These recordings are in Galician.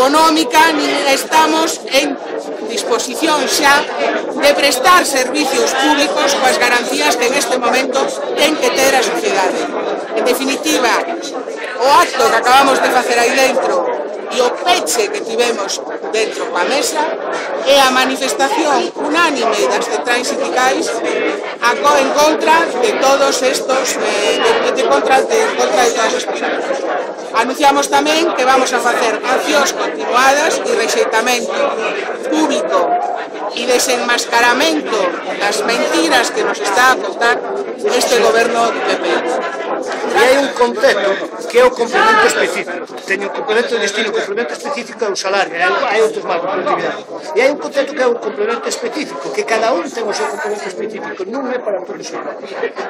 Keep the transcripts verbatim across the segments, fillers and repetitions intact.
económica, nin estamos en disposición xa de prestar servicios públicos coas garantías que en este momento ten que ter a sociedade. En definitiva, o acto que acabamos de facer aí dentro e o peche que tivemos dentro coa mesa é a manifestación unánime das centrais sindicais en contra de todos estos, eh, de, de, contra, de, contra de todas as personas. Anunciamos tamén que vamos a facer accións continuadas e rexeitamento público e desenmascaramento das mentiras que nos está a contar este goberno do P P. E hai un concepto que é o complemento específico. Teño o complemento de destino, o complemento específico é o salario, hai outros máis de productividade. E hai un concepto que é o complemento específico, que cada un ten o seu complemento específico, non é para todos igual.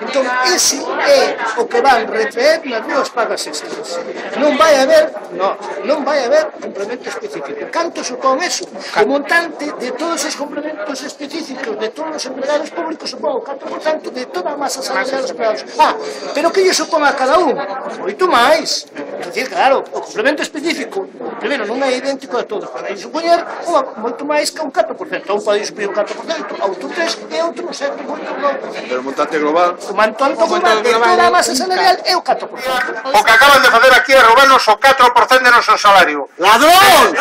Entón, ese é o que van retraer nas dúas pagas extras. Non vai haber, no, non vai haber complemento específico. Canto supón eso? O montante de todos os complementos específicos de todos os empregados públicos supón o catro por cento de toda a masa salarial dos empregados. Ah, pero que lle supón a cada un? Moito máis. É dicir, claro, o complemento específico, primeiro, non é idéntico a todos. Pode supoñer moito máis que un catro por cento. Un pode supor un catro por cento, outro tres e outro un sete por cento. Pero o montante global... O montante global de toda a masa salarial é o catro por cento. O que acaban de facer aquí é roubarnos o catro por cento de noso salario. ¡Ladrón!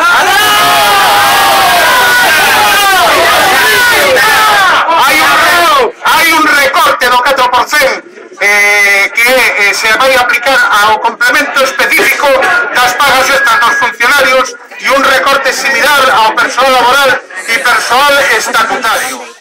Hai un recorte do catro por cento eh, que eh, se vai aplicar ao complemento específico das pagas extras dos funcionarios e un recorte similar ao persoal laboral e persoal estatutario.